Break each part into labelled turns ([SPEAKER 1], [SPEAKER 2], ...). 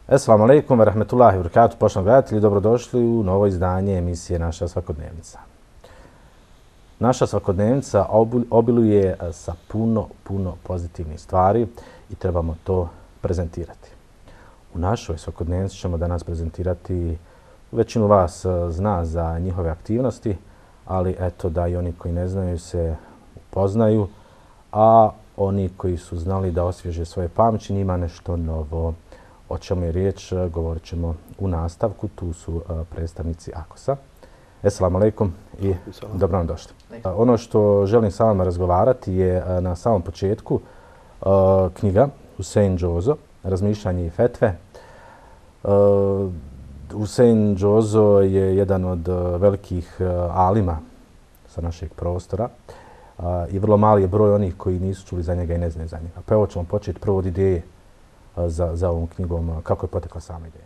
[SPEAKER 1] Assalamu alaikum wa rahmetullahi wa barakatuh, poštovani gledatelji, dobrodošli u novo izdanje emisije Naša svakodnevnica. Naša svakodnevnica obiluje sa puno pozitivnih stvari i trebamo to prezentirati. U našoj svakodnevnici ćemo danas prezentirati, većinu vas zna za njihove aktivnosti, ali eto da i oni koji ne znaju se upoznaju, a oni koji su znali da osvježe svoje pamćenje ima nešto novo. O čemu je riječ, govorit ćemo u nastavku. Tu su predstavnici AKOS-a. Assalamu alaikum i dobro nam došli. Ono što želim sa vama razgovarati je na samom početku knjiga Husein Džozo, Razmišljanje i fetve. Husein Džozo je jedan od velikih alima sa našeg prostora i vrlo mali je broj onih koji nisu čuli za njega i ne znaju za njega. Pa evo ćemo početi prvo od ideje za ovom knjigom. Kako je potekla sama ideja?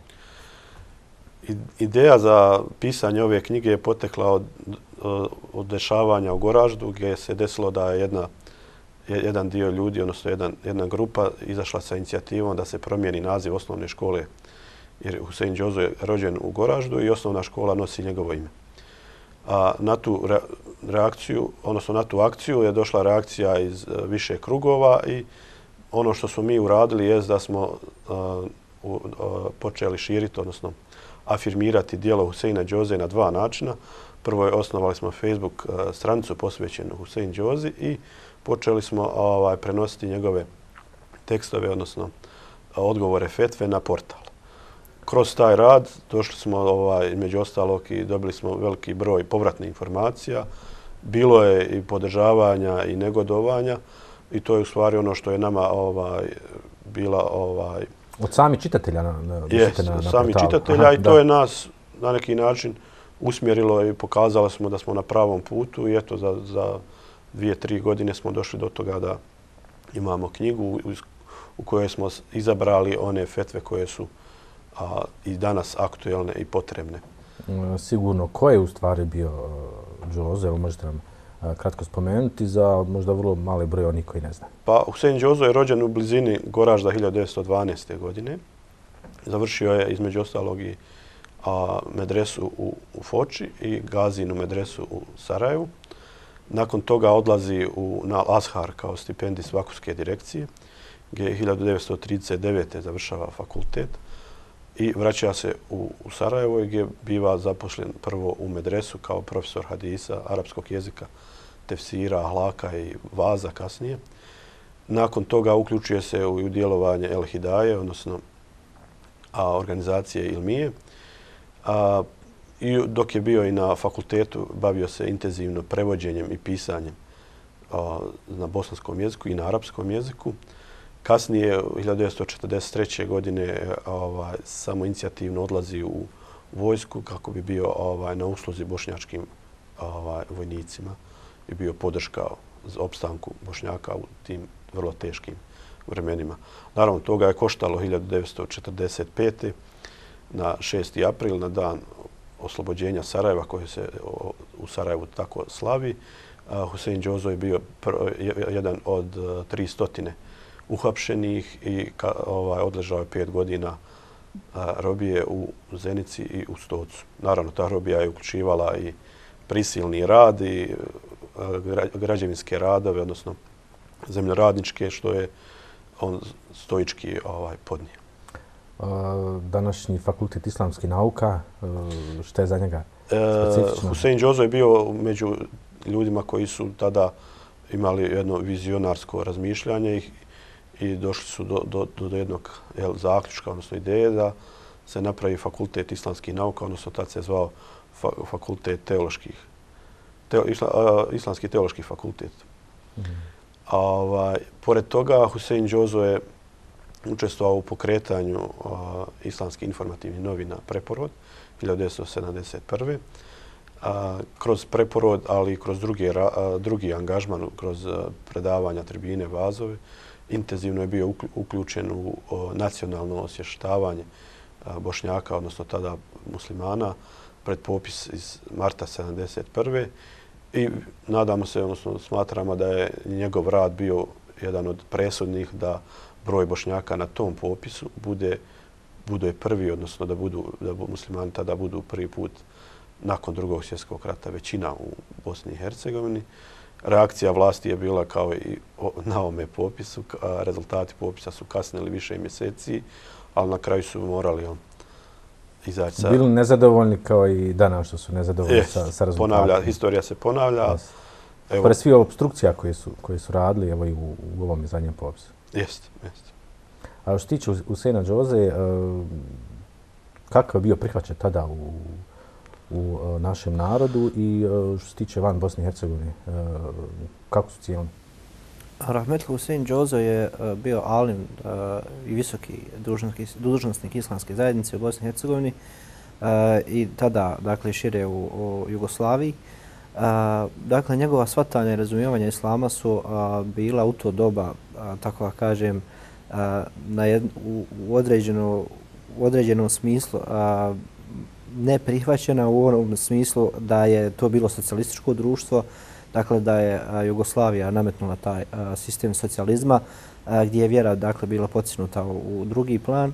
[SPEAKER 2] Ideja za pisanje ove knjige je potekla od dešavanja u Goraždu, gdje se desilo da je jedan dio ljudi, odnosno jedna grupa, izašla sa inicijativom da se promijeni naziv osnovne škole, jer Husein Džozo je rođen u Goraždu i osnovna škola nosi njegovo ime. A na tu reakciju, odnosno na tu akciju je došla reakcija iz više krugova i ono što smo mi uradili je da smo počeli širiti, odnosno afirmirati djelo Huseina Džoze na dva načina. Prvo je osnovali smo Facebook stranicu posvećenu Husein Džozi i počeli smo prenositi njegove tekstove, odnosno odgovore fetve na portal. Kroz taj rad došli smo, među ostalog, i dobili smo veliki broj povratnih informacija. Bilo je i podržavanja i negodovanja. I to je u stvari ono što je nama bila...
[SPEAKER 1] Od samih čitatelja na portalu.
[SPEAKER 2] Sami čitatelja. Aha, i to je nas na neki način usmjerilo i pokazalo smo da smo na pravom putu. I eto, za 2-3 godine smo došli do toga da imamo knjigu u kojoj smo izabrali one fetve koje su i danas aktuelne i potrebne.
[SPEAKER 1] Sigurno. Ko je u stvari bio Džozo? Evo možete nam kratko spomenuti za možda vrlo mali broj onih koji ne znaju.
[SPEAKER 2] Pa Husein Džozo je rođen u blizini Goražda 1912. godine. Završio je između ostalog i medresu u Foči i Gazinu medresu u Sarajevu. Nakon toga odlazi na Ashar kao stipendist Vakufske direkcije, gdje je 1939. završava fakultet i vraća se u Sarajevo gdje biva zaposlen prvo u medresu kao profesor hadisa, arapskog jezika, tefsira, ahlaka i vaza kasnije. Nakon toga uključuje se u djelovanje El Hidaje, odnosno organizacije Ilmije. I dok je bio i na fakultetu, bavio se intenzivno prevođenjem i pisanjem na bosanskom jeziku i na arapskom jeziku. Kasnije, 1943. godine, samo inicijativno odlazi u vojsku kako bi bio na usluzi bošnjačkim vojnicima i bio podrška za opstanku Bošnjaka u tim vrlo teškim vremenima. Naravno, toga je koštalo 1945. na 6. april, na dan oslobođenja Sarajeva, koji se u Sarajevu tako slavi. Husein Džozo je bio jedan od 300 uhapšenih i odležao je 5 godina robije u Zenici i u Stocu. Naravno, ta robija je uključivala i prisilni rad i građevinske radove, odnosno zemljoradničke, što je on stoički podnio.
[SPEAKER 1] Današnji fakultet islamskih nauka, što je za njega specifično?
[SPEAKER 2] Husein Džozo je bio među ljudima koji su tada imali jedno vizionarsko razmišljanje i došli su do jednog zaključka, odnosno ideje da se napravi fakultet islamskih nauka, odnosno tad se zvao fakultet islamski teološki fakultet. Pored toga, Husein Džozo je učestvovao u pokretanju islamskih informativnih novina Preporod 1971. Kroz Preporod, ali i kroz drugi angažman, kroz predavanja, tribine, vazove, intenzivno je bio uključen u nacionalno osvještavanje Bošnjaka, odnosno tada muslimana, pred popis iz marta 1971. I nadamo se, odnosno smatramo da je njegov rad bio jedan od presudnih da broj Bošnjaka na tom popisu bude prvi, odnosno da muslimani tada budu prvi put nakon Drugog svjetskog rata većina u Bosni i Hercegovini. Reakcija vlasti je bila kao i na ovome popisu. Rezultati popisa su kasnili više mjeseci, ali na kraju su morali izaći sa...
[SPEAKER 1] Bili nezadovoljni kao i danas što su nezadovoljni sa rezultatima.
[SPEAKER 2] Historija se ponavlja.
[SPEAKER 1] Pored svih obstrukcija koje su radili evo i u ovom zadnjem popisu.
[SPEAKER 2] Jeste.
[SPEAKER 1] A što se tiče Huseina Džoze, kakav je bio prihvaćen tada u našem narodu i što se tiče van Bosne i Hercegovine, kako su cijelni?
[SPEAKER 3] Rahmetli Husein Džozo je bio alim i visoki dužnosnik islamske zajednice u Bosni i Hercegovini i tada, dakle, šire u Jugoslaviji. Dakle, njegova shvatanja i razumijevanja islama su bila u to doba, tako da kažem, u određenom smislu neprihvaćena u onom smislu da je to bilo socijalističko društvo, dakle da je Jugoslavija nametnula taj sistem socijalizma gdje je vjera dakle bila podsjenuta u drugi plan,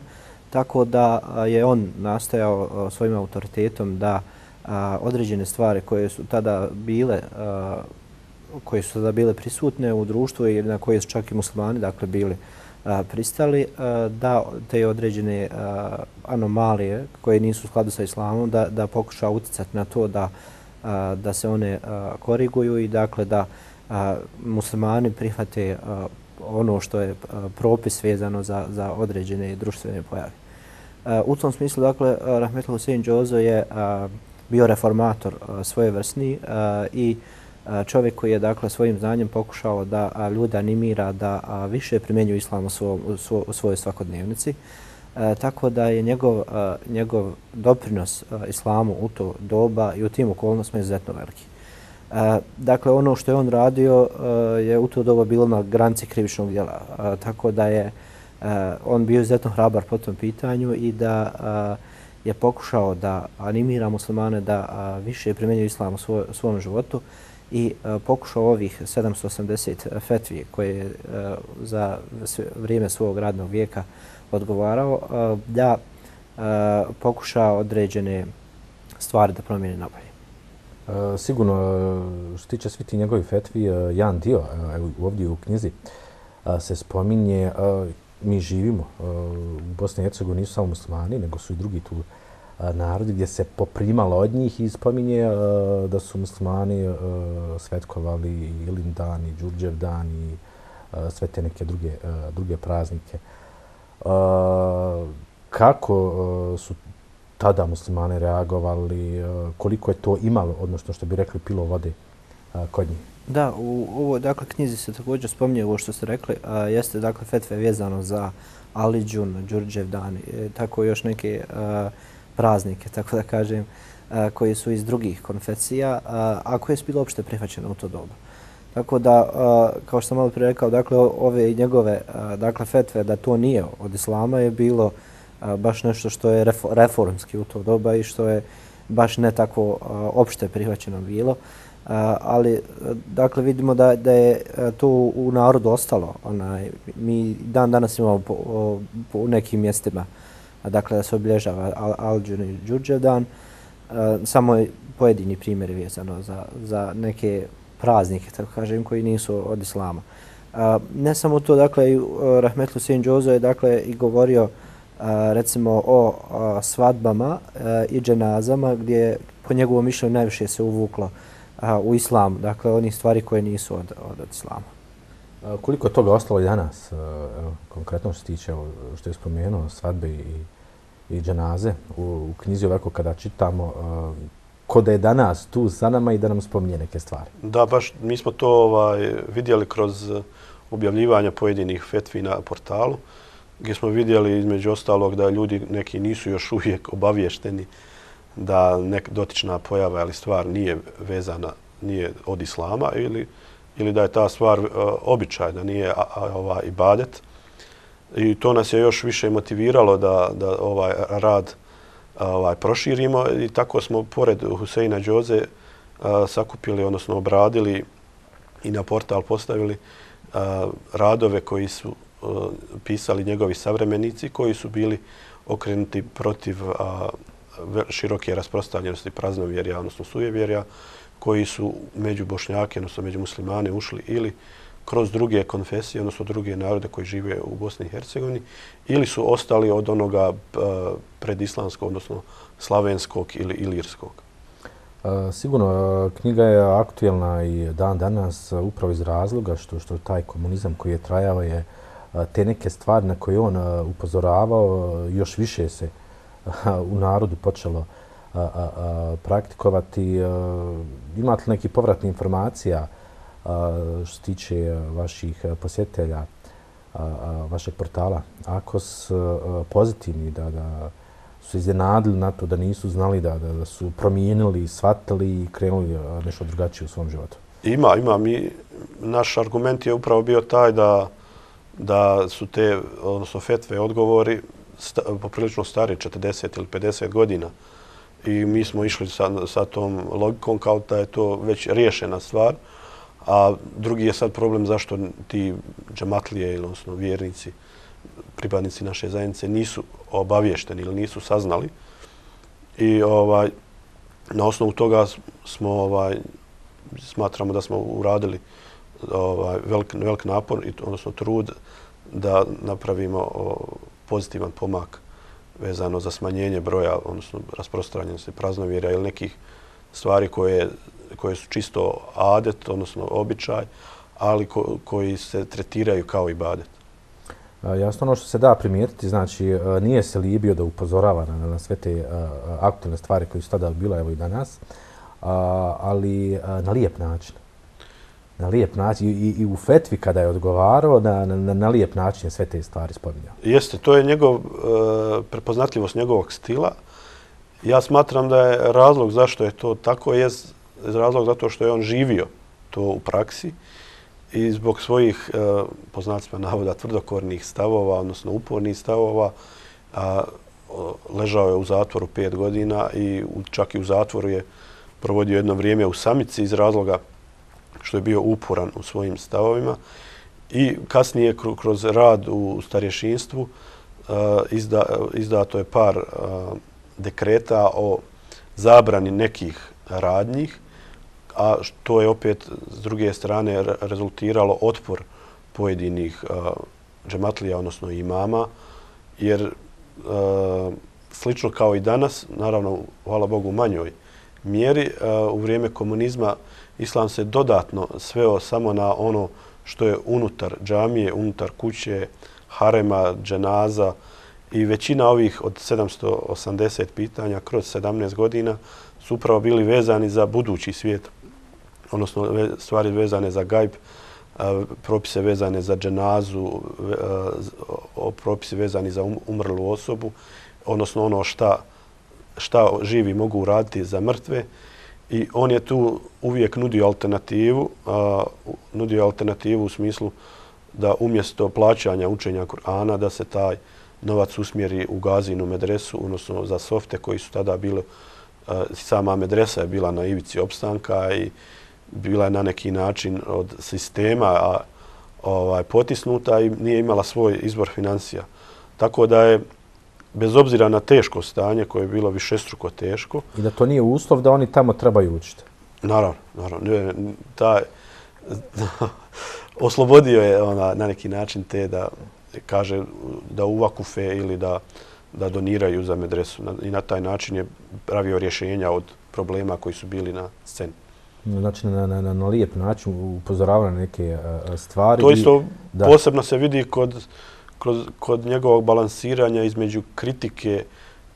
[SPEAKER 3] tako da je on nastojao svojim autoritetom da određene stvari koje su tada bile prisutne u društvu i na koje su čak i muslimani dakle bili pristali, da te određene anomalije koje nisu u skladu sa islamom da pokuša utjecati na to da se one koriguju i dakle da muslimani prihvate ono što je propis vezano za određene društvene pojave. U tom smislu, dakle, Rahmetli Husein Džozo je bio reformator svojevrsni i čovjek koji je dakle svojim znanjem pokušao da ljude animira da više primjenjuju islam u svojoj svakodnevnici. Tako da je njegov doprinos islamu u to doba i u tim okolnostima izuzetno veliki. Dakle, ono što je on radio je u to doba bilo na granici krivičnog djela. Tako da je on bio izuzetno hrabar po tom pitanju i da je pokušao da animira muslimane da više primjenjuju islam u svom životu i pokušao ovih 780 fetvi koje je za vrijeme svog radnog vijeka odgovarao da pokuša određene stvari da promijeni nabolje.
[SPEAKER 1] Sigurno, što se tiče svi ti njegovi fetvi, jedan dio ovdje u knjizi se spominje, mi živimo u Bosni i Hercegovini, nisu samo muslimani, nego su i drugi tu narodi gdje se poprimalo od njih i spominje da su muslimani svetkovali i Ilindan i Đurđevdan i sve te neke druge praznike. Kako su tada muslimani reagovali, koliko je to imalo, odnosno što bi rekli pilo vode kod njih?
[SPEAKER 3] Da, u ovoj dakle, knjizi se također spominje ovo što ste rekli, jeste dakle fetve vezano za Aliđun, Đurđevdan, tako još neke praznike, tako da kažem, koji su iz drugih konfesija, a koje su bilo opšte prihvaćene u to doba. Tako da, kao što sam malo prije rekao, dakle, ove njegove dakle, fetve da to nije od islama je bilo baš nešto što je reformski u to doba i što je baš ne tako opšte prihvaćeno bilo. Ali, dakle, vidimo da je to u narodu ostalo. Mi danas imamo u nekim mjestima dakle, da se obilježava Aliđun i Đurđevdan. Samo je pojedini primjeri vezano za neke praznike, tako kažem, koji nisu od islama. Ne samo to, dakle, Rahmetli Husein Džozo je dakle, i govorio recimo o svadbama i dženazama gdje po njegovom mišljenju najviše se uvuklo u islam, dakle onih stvari koje nisu od islama.
[SPEAKER 1] Koliko je toga ostalo i danas, konkretno što se tiče, što je spomenuo, svadbe i dženaze u knjizi ovako kada čitamo, ko da je danas tu sa nama i da nam spominje neke stvari?
[SPEAKER 2] Da, baš mi smo to vidjeli kroz objavljivanja pojedinih fetvi na portalu. gdje smo vidjeli između ostalog da ljudi neki nisu još uvijek obavješteni da dotična pojava ili stvar nije vezana, nije od islama ili da je ta stvar običaj, da nije ibadet. I to nas je još više motiviralo da ovaj rad proširimo i tako smo pored Huseina Đoze sakupili, odnosno obradili i na portal postavili radove koji su pisali njegovi savremenici koji su bili okrenuti protiv široke rasprostranjenosti praznovjerja, odnosno sujevjerja, koji su među Bošnjake, odnosno među muslimane ušli ili kroz druge konfesije, odnosno druge narode koji žive u Bosni i Hercegovini, ili su ostali od onoga predislamskog, odnosno slavenskog ili ilirskog.
[SPEAKER 1] Sigurno, knjiga je aktuelna i dan danas upravo iz razloga što taj komunizam koji je trajao je te neke stvari na koje on upozoravao još više se u narodu počelo praktikovati. Imate li neki povratni informacija što se tiče vaših posjetitelja, vašeg portala? Ako su pozitivni, da su iznenadili na to, da nisu znali da su promijenili, shvatili i krenuli nešto drugačije u svom životu?
[SPEAKER 2] Ima. Naš argument je upravo bio taj da su te, odnosno fetve, odgovori poprilično stari, 40 ili 50 godina. I mi smo išli sa tom logikom kao da je to već riješena stvar. A drugi je sad problem zašto ti džematlije, odnosno vjernici, pripadnici naše zajednice nisu obavješteni ili nisu saznali. I na osnovu toga smatramo da smo uradili velik napor, odnosno trud da napravimo pozitivan pomak vezano za smanjenje broja, odnosno rasprostranjenosti praznovjerja ili nekih stvari koje su čisto adet, odnosno običaj, ali koji se tretiraju kao ibadet.
[SPEAKER 1] Jasno, ono što se da primijetiti, znači nije se libio da upozorava na sve te aktualne stvari koje su tada bila, evo i danas, ali na lijep način. Na lijep način i u fetvi kada je odgovarao, na lijep način je sve te stvari spominjao.
[SPEAKER 2] Jeste, to je prepoznatljivost njegovog stila. Ja smatram da je razlog zašto je to tako je razlog zato što je on živio to u praksi i zbog svojih, po znacima navoda, tvrdokornih stavova, odnosno upornih stavova, ležao je u zatvoru 5 godina i čak i u zatvoru je provodio jedno vrijeme u samici iz razloga što je bio uporan u svojim stavovima. I kasnije kroz rad u starješinstvu izdato je par dekreta o zabrani nekih radnjih, a to je opet s druge strane rezultiralo otpor pojedinih džematlija, odnosno imama, jer slično kao i danas, naravno, hvala Bogu, u manjoj mjeri, u vrijeme komunizma islam se dodatno sveo samo na ono što je unutar džamije, unutar kuće, harema, dženaza i većina ovih od 780 pitanja kroz 17 godina su upravo bili vezani za budući svijet, odnosno stvari vezane za gajb, propise vezane za dženazu, propise vezani za umrlu osobu, odnosno ono šta živi mogu uraditi za mrtve. I on je tu uvijek nudio alternativu u smislu da umjesto plaćanja učenja Kur'ana da se taj novac usmjeri u Gazinu medresu, odnosno za softe koji su tada bili, sama medresa je bila na ivici opstanka i bila je na neki način od sistema potisnuta i nije imala svoj izvor financija. Tako da je, bez obzira na teško stanje koje je bilo višestruko teško.
[SPEAKER 1] I da to nije uslov da oni tamo trebaju učiti. Naravno.
[SPEAKER 2] Oslobodio je na neki način te da kaže da uvakufe ili da doniraju za medresu. I na taj način je pravio rješenja od problema koji su bili na sceni.
[SPEAKER 1] Znači, na lijep način upozorava na neke stvari.
[SPEAKER 2] To isto posebno se vidi kod njegovog balansiranja između kritike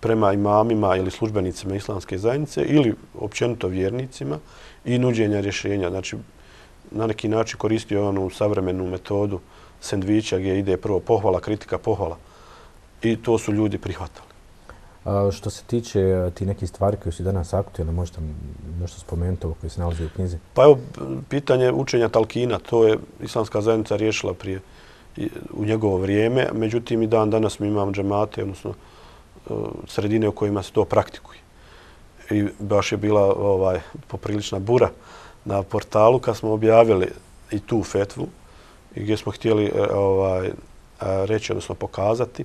[SPEAKER 2] prema imamima ili službenicima islamske zajednice ili općenito vjernicima i nuđenja rješenja. Znači, na neki način koristio onu savremenu metodu sendviča gdje ide prvo pohvala, kritika, pohvala. i to su ljudi prihvatali.
[SPEAKER 1] Što se tiče ti nekih stvari koje su danas aktualne, možete nešto spomenuti ovo koje se nalazi u knjizi?
[SPEAKER 2] Pa evo, pitanje učenja talkina, to je islamska zajednica riješila u njegovo vrijeme, međutim i dan danas mi imamo džemate, odnosno sredine u kojima se to praktikuje. I baš je bila poprilična bura na portalu kad smo objavili i tu fetvu i gdje smo htjeli reći, odnosno pokazati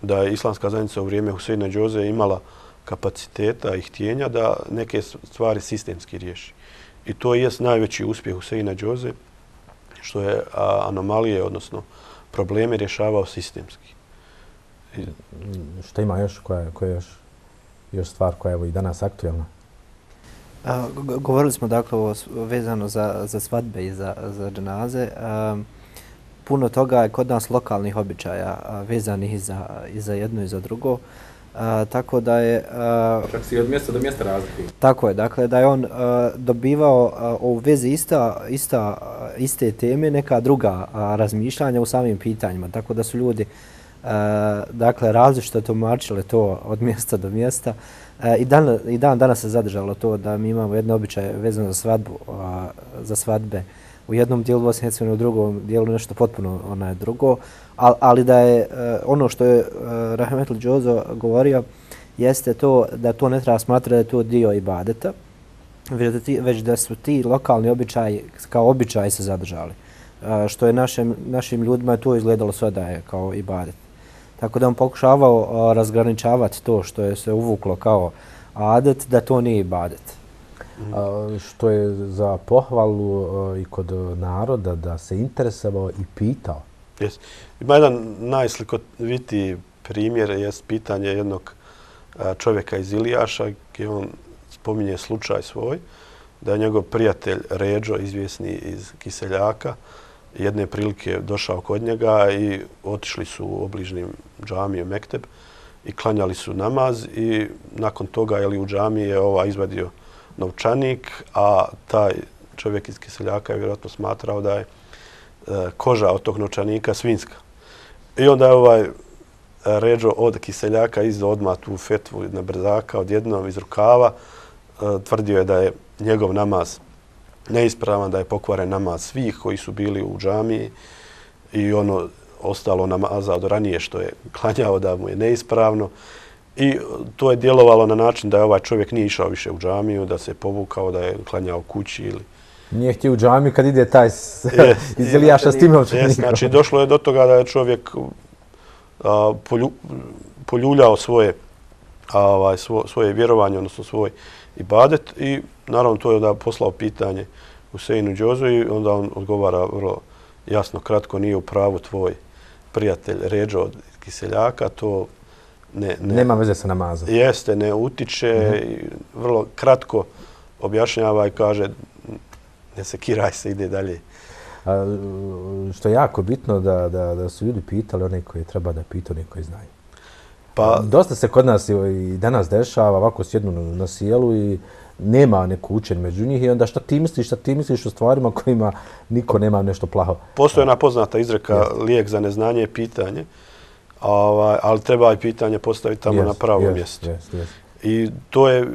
[SPEAKER 2] da je islamska zajednica u vrijeme Huseina Đoze imala kapaciteta i htjenja da neke stvari sistemski riješi. I to je najveći uspjeh Huseina Đoze, što je anomalije, odnosno probleme rješavao sistemski.
[SPEAKER 1] Šta ima još? Koja je još stvar koja je i danas aktualna?
[SPEAKER 3] Govorili smo dakle vezano za svadbe i za dženaze. Puno toga je kod nas lokalnih običaja vezanih i za jedno i za drugo. Tako da je...
[SPEAKER 1] Čak si od mjesta do mjesta razlikuju.
[SPEAKER 3] Tako je, dakle da je on dobivao u vezi iste teme neka druga razmišljanja u samim pitanjima. Tako da su ljudi dakle različito tumačile to od mjesta do mjesta. I danas se zadržalo to da mi imamo jedno običaje vezano za svadbe u jednom dijelu Bosne i Hercegovine, u drugom dijelu nešto potpuno drugo. Ali da je ono što je Rahmetli Đozo govorio jeste to da to ne treba smatrati da je to dio ibadeta, već da su ti lokalni običaji kao običaji se zadržali. Što je našim ljudima to izgledalo sve da je kao ibadet. Tako da on pokušavao razgraničavati to što je se uvuklo kao adet, da to nije ibadet.
[SPEAKER 1] Što je za pohvalu i kod naroda da se interesovao i pitao.
[SPEAKER 2] Ima jedan najslikovitiji primjer, jest pitanje jednog čovjeka iz Ilijaša, gdje on spominje slučaj svoj, da je njegov prijatelj Ređo, izvjesni iz Kiseljaka, jedne prilike došao kod njega i otišli su u obližnjem džamiju Mekteb i klanjali su namaz i nakon toga u džamiji je izvadio novčanik, a taj čovjek iz Kiseljaka je vjerojatno smatrao da je koža od tog novčanika svinjska. I onda je Ređo od Kiseljaka izdao odmah tu fetvu na brzaka odjednom iz rukava. Tvrdio je da je njegov namaz neispravan, da je pokvaren namaz svih koji su bili u džamiji i ono ostalo namaza od ranije što je klanjao da mu je neispravno. I to je djelovalo na način da je ovaj čovjek nije išao više u džamiju, da se povukao, da je klanjao kući ili...
[SPEAKER 1] Nije htio u džamiju kad ide taj iz Ilijaša s tim novčanikom.
[SPEAKER 2] Znači, došlo je do toga da je čovjek poljuljao svoje vjerovanje, odnosno svoj ibadet i naravno to je da poslao pitanje Huseinu Đozu i onda on odgovara vrlo jasno, kratko, nije u pravu tvoj prijatelj Ređo od Kiseljaka, to
[SPEAKER 1] nema veze sa namazom.
[SPEAKER 2] Jeste, ne utiče i vrlo kratko objašnjava i kaže ne sekiraj se, ide dalje.
[SPEAKER 1] Što je jako bitno da su ljudi pitali one koji treba da pitaju, one koji znaju. Dosta se kod nas i danas dešava, ovako sjednu na sjelu i nema neku učenje među njih i onda šta ti misliš o stvarima kojima niko nema nešto plaho.
[SPEAKER 2] Postoje jedna poznata izreka, lijek za neznanje je pitanje, ali treba i pitanje postaviti tamo na pravo mjesto. I to je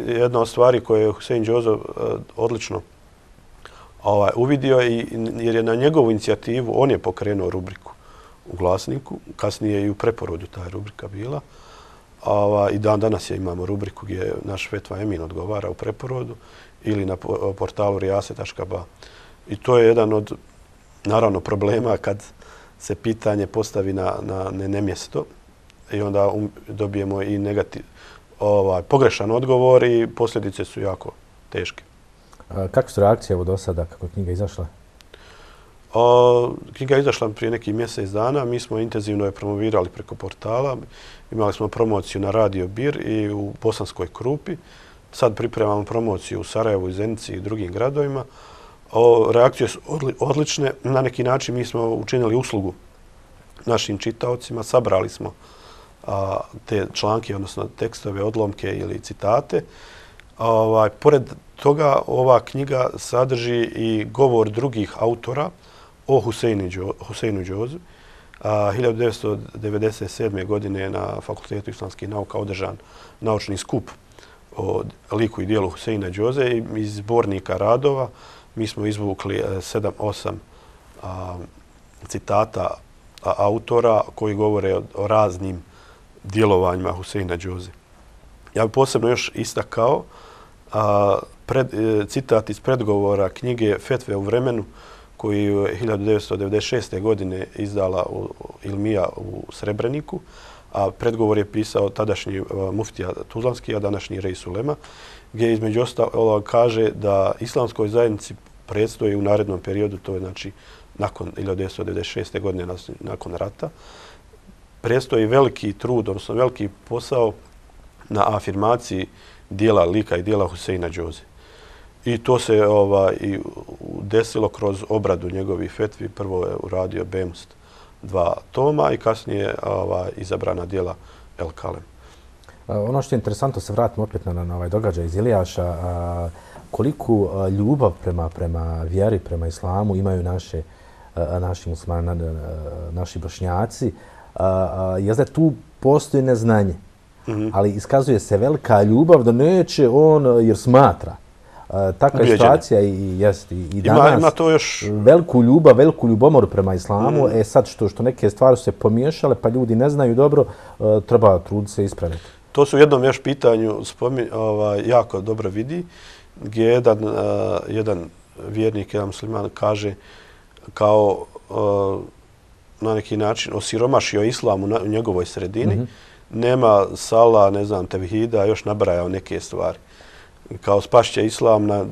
[SPEAKER 2] jedna od stvari koje je Husein Đozo odlično uvidio jer je na njegovu inicijativu, on je pokrenuo rubriku u Glasniku, kasnije i u Preporodu ta rubrika bila. I danas imamo rubriku gdje naš Fetva Emin odgovara u Preporodu ili na portalu rijase.ba. I to je jedan od, naravno, problema kad se pitanje postavi na nemjesto i onda dobijemo i pogrešan odgovor i posljedice su jako teške.
[SPEAKER 1] Kakve su reakcije do sada kako je knjiga izašla?
[SPEAKER 2] Knjiga je izašla prije nekih mjesec dana. Mi smo intenzivno je promovirali preko portala. Imali smo promociju na Radio Bir i u Bosanskoj Krupi. Sad pripremamo promociju u Sarajevu, i Zenici i drugim gradovima. Reakcije su odlične. Na neki način mi smo učinili uslugu našim čitaocima. Sabrali smo te članke, odnosno tekstove, odlomke ili citate. Pored toga, ova knjiga sadrži i govor drugih autora o Huseinu Đozu, 1997. godine na Fakultetu islamskih nauka održan naučni skup o liku i dijelu Huseina Đoze i iz zbornika radova mi smo izvukli 7-8 citata autora koji govore o raznim djelovanjima Huseina Đoze. Ja bih posebno još istakao citat iz predgovora knjige Fetve u vremenu koji je 1996. godine izdala Ilmija u Srebreniku, a predgovor je pisao tadašnji muftija Tuzlanski, a današnji Rej Sulema, gdje između ostalog kaže da islamskoj zajednici predstoji u narednom periodu, to je znači nakon 1996. godine, nakon rata, predstoji veliki trud, odnosno veliki posao na afirmaciji dijela lika i dijela Huseina Đoze. I to se i desilo kroz obradu njegovih fetvi. Prvo je uradio Bemust 2 toma i kasnije izabrana dijela El Kalem.
[SPEAKER 1] Ono što je interesantno, se vratimo opet na ovaj događaj iz Ilijaša, koliku ljubav prema vjeri, prema islamu imaju naši muslimani, naši bošnjaci. Je da tu postoji neznanje, ali iskazuje se velika ljubav da neće on, jer smatra. Takva situacija i jest i danas
[SPEAKER 2] ima to još
[SPEAKER 1] veliku ljubav, veliku ljubomoru prema islamu. Sad što neke stvari su se pomiješale, pa ljudi ne znaju dobro, treba truditi se ispraviti.
[SPEAKER 2] To su u jednom još pitanju jako dobro vidi, gdje jedan vjernik, jedan musliman kaže kao na neki način osiromašio islam u njegovoj sredini, nema sala, ne znam, tevhida, još nabrajao neke stvari. Kao spašće islam na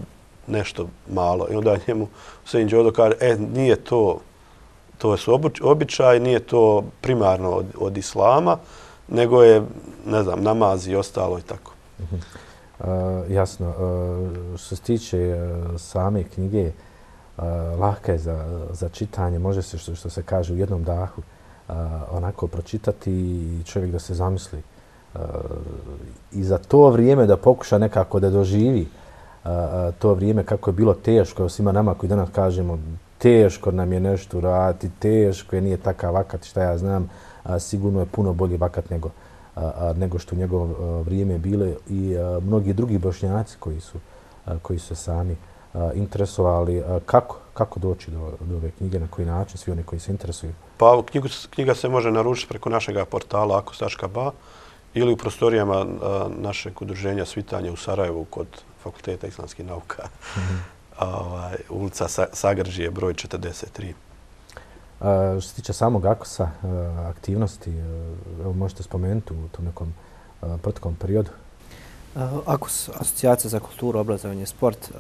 [SPEAKER 2] nešto malo. I onda njemu Husein Đodo kaže, nije to su običaj, nije to primarno od islama, nego je, ne znam, namaz i ostalo i tako.
[SPEAKER 1] Jasno. Što se tiče same knjige, lahka je za čitanje, može se, što se kaže, u jednom dahu onako pročitati i čovjek da se zamisli. I za to vrijeme da pokuša nekako da doživi to vrijeme kako je bilo teško, svima nama koji danas kažemo teško nam je nešto raditi, teško je, nije takav vakat, šta ja znam, sigurno je puno bolji vakat nego što u njegovo vrijeme bile i mnogi drugi bošnjaci koji su sami interesovali. Kako doći do ove knjige, na koji način, svi oni koji se interesuju?
[SPEAKER 2] Pa knjiga se može naručiti preko našeg portala akos.ba ili u prostorijama našeg udruženja Svitanje u Sarajevu kod Fakulteta islamskih nauka. Ulica Sagrđije, broj 43.
[SPEAKER 1] Što se tiče samog AKOS-a, aktivnosti, možete spomenuti u tom nekom proteklom periodu?
[SPEAKER 3] AKOS, Asocijacija za kulturu, obrazovanje i sport,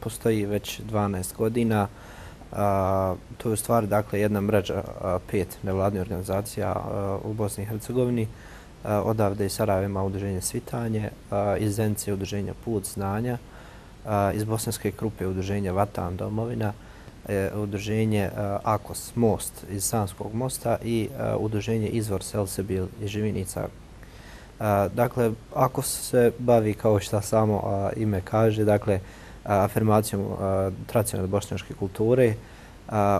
[SPEAKER 3] postoji već 12 godina. To je u stvari jedna mreža 5 nevladnih organizacija u Bosni i Hercegovini. Odavde iz Sarajeva ima udruženje Svitanje, iz Zenice udruženja Put znanja, iz Bosanske Krupe udruženje Vatan domovina, udruženje AKOS Most iz Sanskog mosta i udruženje Izvor Selsebil iz Živinica. Dakle, AKOS se bavi, kao što samo ime kaže, afirmacijom tradicionalne bošnjačke kulture,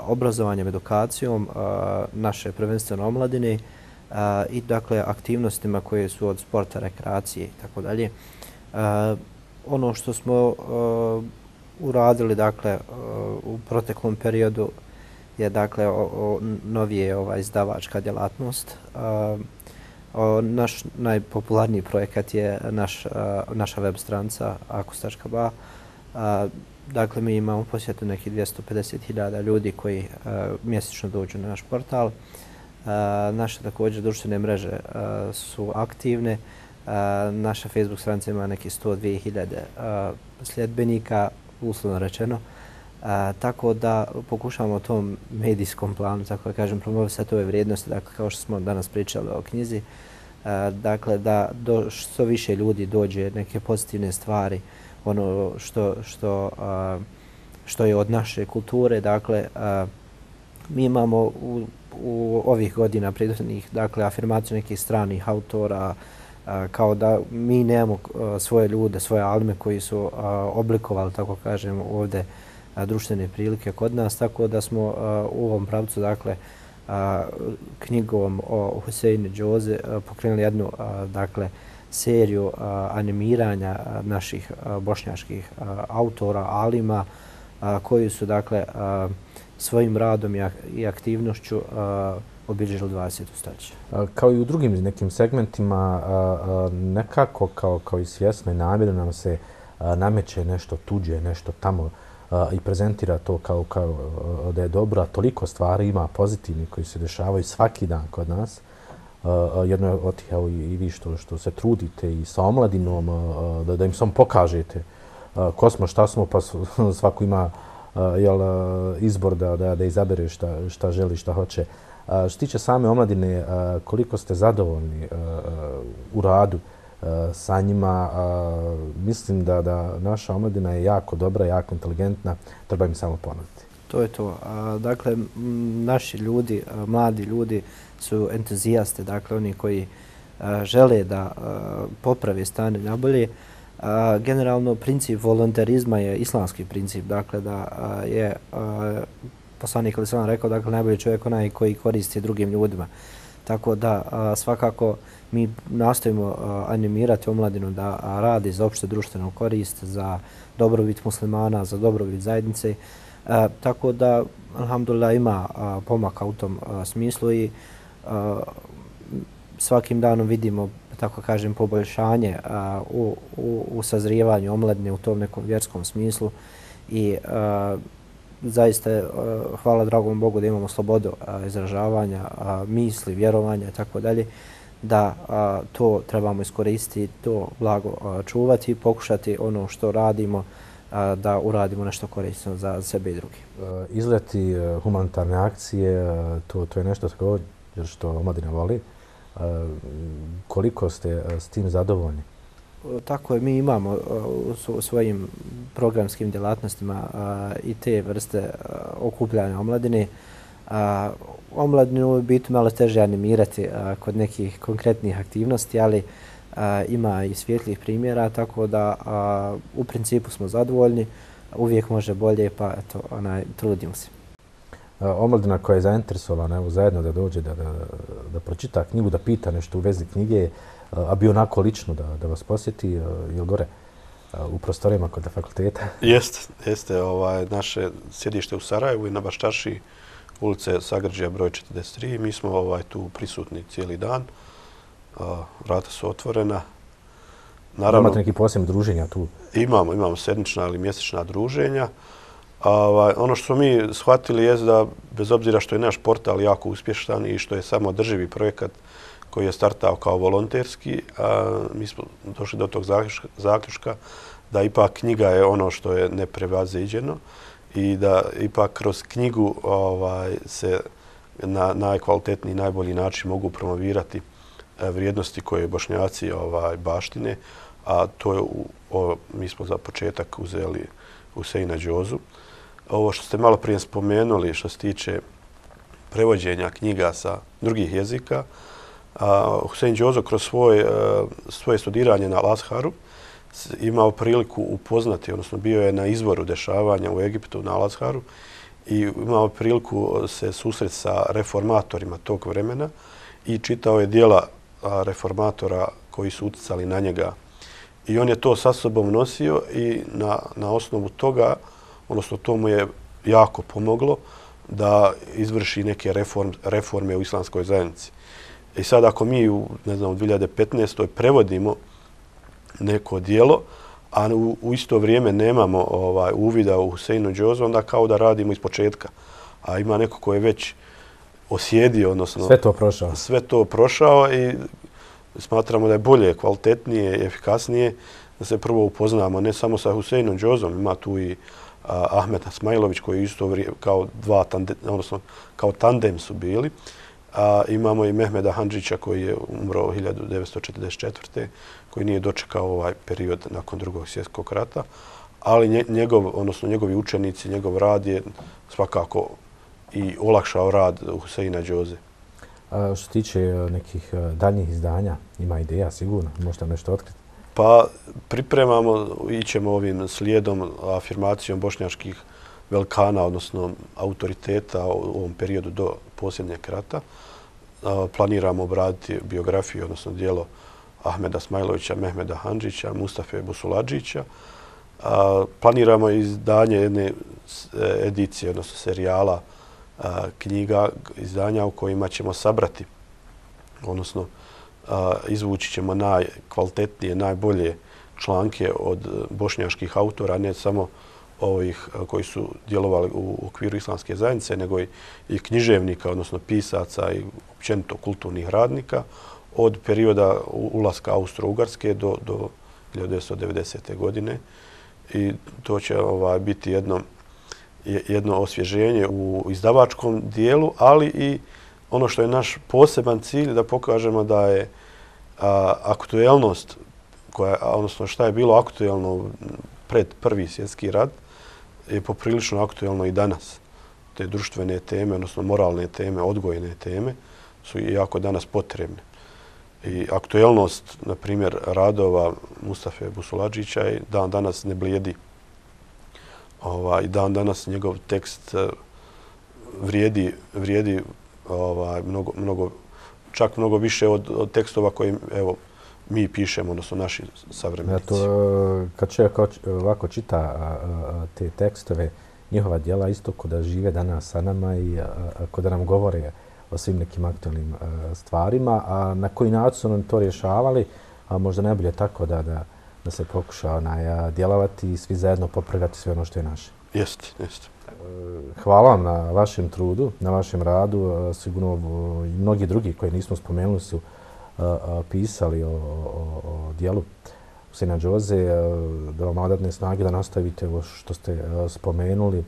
[SPEAKER 3] obrazovanjem, edukacijom naše prvenstveno omladine i aktivnostima koje su od sporta, rekreacije i tako dalje. Ono što smo uradili u proteklom periodu je novije izdavačka djelatnost. Naš najpopularniji projekat je naša web stranica akos.ba. Mi imamo posjetu nekih 250.000 ljudi koji mjesečno dođu na naš portal. Naše također društvene mreže su aktivne. Naša Facebook stranica ima nekih 102.000 sljedbenika, uslovno rečeno. Tako da pokušavamo o tom medijskom planu, tako da kažem, promovisati ove vrijednosti, kao što smo danas pričali o knjizi. Da što više ljudi dođe neke pozitivne stvari, ono što je od naše kulture. Mi imamo u ovih godina prethodnih afirmaciju nekih stranih autora, kao da mi nemamo svoje ljude, svoje alime koji su oblikovali, tako kažem, ovdje društvene prilike kod nas, tako da smo u ovom pravcu knjigom o Huseinu Džozi pokrenuli jednu dakle, seriju animiranja naših bošnjačkih autora, alima, koji su dakle, svojim radom i aktivnošću obilježili 20. stoljeće.
[SPEAKER 1] Kao i u drugim nekim segmentima, nekako kao i svjesno i namjerno nam se nameće nešto tuđe, nešto tamo i prezentira to kao da je dobro, a toliko stvari ima pozitivni koji se dešavaju svaki dan kod nas. Jedno od tih, evo i vi što se trudite i sa omladinom, da im samo pokažete ko smo, šta smo, pa svako ima izbor da izabere šta želi, šta hoće. Što se tiče same omladine, koliko ste zadovoljni u radu sa njima? Mislim da naša omladina je jako dobra, jako inteligentna, treba im samo ponuditi.
[SPEAKER 3] To je to. Dakle, naši ljudi, mladi ljudi su entuzijaste, dakle oni koji žele da poprave stanje nabolje. Generalno, princip volontarizma je islamski princip, dakle da je poslanik ali sam rekao, dakle najbolji čovjek onaj koji koristi drugim ljudima. Tako da svakako mi nastojimo animirati omladinu da radi za opšte društvenu korist, za dobrobit muslimana, za dobrobit zajednice. Tako da, alhamdulillah, ima pomaka u tom smislu i svakim danom vidimo, tako kažem, poboljšanje u sazrijevanju omladine u tom nekom vjerskom smislu i zaista hvala dragom Bogu da imamo slobodu izražavanja, misli, vjerovanja i tako dalje, da to trebamo iskoristiti, to blago čuvati i pokušati ono što radimo da uradimo nešto korisno za sebe i drugi.
[SPEAKER 1] Izleti humanitarne akcije, to je nešto također što omladina voli. Koliko ste s tim zadovoljni?
[SPEAKER 3] Tako je, mi imamo u svojim programskim djelatnostima i te vrste okupljanja omladine. Omladinu biti malo teže animirati kod nekih konkretnih aktivnosti, ali ima i svjetlih primjera, tako da u principu smo zadovoljni. Uvijek može bolje, pa eto, trudimo se.
[SPEAKER 1] Omladina koja je zainteresovana, evo zajedno da dođe, da pročita knjigu, da pita nešto u vezi knjige, a bi onako lično da vas posjeti, je li gore u prostorijama kod fakulteta?
[SPEAKER 2] Jeste. Naše sjedište u Sarajevu i na Baščaši, ulice Sagrđija broj 43. Mi smo tu prisutni cijeli dan. Vrata su otvorena.
[SPEAKER 1] Naravno, imate neki posebne druženja tu?
[SPEAKER 2] Imamo sedmična ili mjesečna druženja. Ono što mi shvatili je da, bez obzira što je naš portal jako uspješan i što je samo održivi projekat koji je startao kao volonterski, mi smo došli do tog zaključka da ipak knjiga je ono što je neprevaziđeno i da ipak kroz knjigu se na najkvalitetniji, najbolji način mogu promovirati vrijednosti koje Bošnjaci baštine, a to je, mi smo za početak uzeli Huseina Džozu. Ovo što ste malo prije spomenuli što se tiče prevođenja knjiga sa drugih jezika, Husein Džozo kroz svoje studiranje na Al-Azharu imao priliku upoznati, odnosno bio je na izvoru dešavanja u Egiptu na Al-Azharu i imao priliku se susreti sa reformatorima tog vremena i čitao je dijela reformatora koji su utjecali na njega. I on je to sa sobom nosio i na osnovu toga, odnosno to mu je jako pomoglo da izvrši neke reforme u islamskoj zajednici. I sad ako mi u 2015. prevodimo neko dijelo, a u isto vrijeme nemamo uvida u Huseinu Džozu, onda kao da radimo iz početka. A ima neko ko je već osjedio, odnosno sve to prošao i smatramo da je bolje, kvalitetnije i efikasnije da se prvo upoznamo ne samo sa Huseinom Džozom, ima tu i Ahmet Asmailović koji isto vrijeme kao tandem su bili. Imamo i Mehmeda Handžića koji je umro 1944. koji nije dočekao ovaj period nakon Drugog svjetskog rata, ali njegovi učenici, njegov rad je svakako i olakšao rad Huseina Džoze.
[SPEAKER 1] Što se tiče nekih daljnjih izdanja, ima ideja sigurno? Možete nešto otkriti?
[SPEAKER 2] Pa pripremamo, ićemo ovim slijedom, afirmacijom bošnjačkih velikana, odnosno autoriteta u ovom periodu do posljednjeg rata. Planiramo obraditi biografiju, odnosno dijelo Ahmeda Smajlovića, Mehmeda Handžića, Mustafe Busuladžića. Planiramo izdanje jedne edicije, odnosno serijala knjiga, izdanja u kojima ćemo sabrati, odnosno izvući ćemo najkvalitetnije, najbolje članke od bošnjaških autora, ne samo ovih koji su djelovali u okviru islamske zajednice, nego i književnika, odnosno pisaca i općenito kulturnih radnika od perioda ulaska Austro-Ugarske do 1990. godine. I to će biti jedno osvježenje u izdavačkom dijelu, ali i ono što je naš poseban cilj, da pokažemo da je aktuelnost, odnosno šta je bilo aktuelno pred Prvi svjetski rat, je poprilično aktuelno i danas. Te društvene teme, odnosno moralne teme, odgojne teme su jako danas potrebne. I aktuelnost, na primjer, radova Mustafe Busuladžića i dan danas ne blijedi. I dan danas njegov tekst vrijedi čak mnogo više od tekstova koje mi pišemo, odnosno naši savremenici.
[SPEAKER 1] Kad čovjek ovako čita te tekstove, njihova djela isto kod da žive danas sa nama i kod da nam govore o svim nekim aktualnim stvarima, a na koji način su nam to rješavali, a možda najbolje tako da se pokuša djelovati i svi zajedno popravljati sve ono što je naše.
[SPEAKER 2] Jeste.
[SPEAKER 1] Hvala vam na vašem trudu, na vašem radu. Sigurno i mnogi drugi koji nismo spomenuli su pisali o dijelu Huseina Džoze, da vam odatne snage da nastavite ovo što ste spomenuli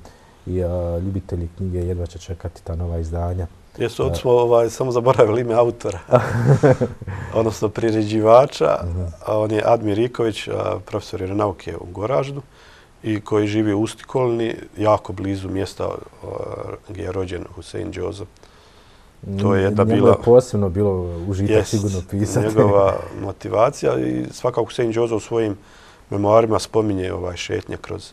[SPEAKER 1] i ljubitelji knjige jedva će čekati ta nova izdanja.
[SPEAKER 2] Jesu, od smo samo zaboravili ime autora, odnosno priređivača. On je Admir Iković, profesor nauke u Goraždu i koji živi u Ustikolni, jako blizu mjesta gdje je rođen Husein Džoza. To je jedna bila...
[SPEAKER 1] posebno bilo užitak sigurno pisati.
[SPEAKER 2] Njegova motivacija i svakako Husein Džoza u svojim memoarima spominje šetnje kroz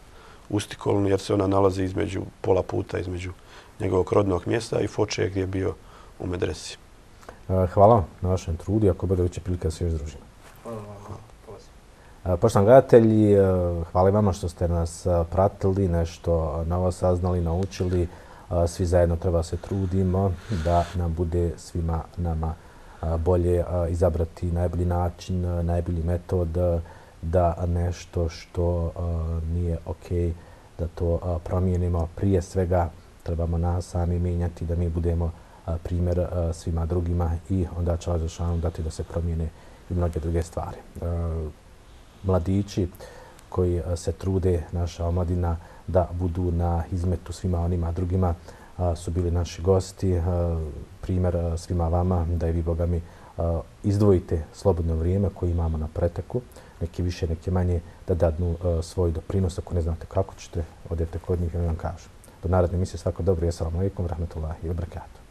[SPEAKER 2] Ustikolnu jer se ona nalazi između pola puta između njegovog rodnog mjesta i Foče gdje je bio u medresi.
[SPEAKER 1] Hvala vam na vašem trudu i ako bude veće prilike da se još družimo. Poštovani gledatelji, hvala vama što ste nas pratili, nešto novo saznali, naučili. Svi zajedno treba se trudimo da nam bude svima nama bolje izabrati najbolji način, najbolji metod, da nešto što nije okej, da to promijenimo. Prije svega trebamo nas sami mijenjati, da mi budemo primjer svima drugima i onda će Allah dati da se promijene i mnoge druge stvari. Mladići koji se trude, naša omladina, da budu na hizmetu svima onima drugima su bili naši gosti. Primjer svima vama da i vi, Boga mi, izdvojite slobodno vrijeme koje imamo na preteku, neki više, neki manje, da dadnu svoj doprinos. Ako ne znate kako ćete, odete kod njih i vam kažu. Do naredne emisije, svako dobro i assalamu alaikum, rahmetullahi wa barakatuh.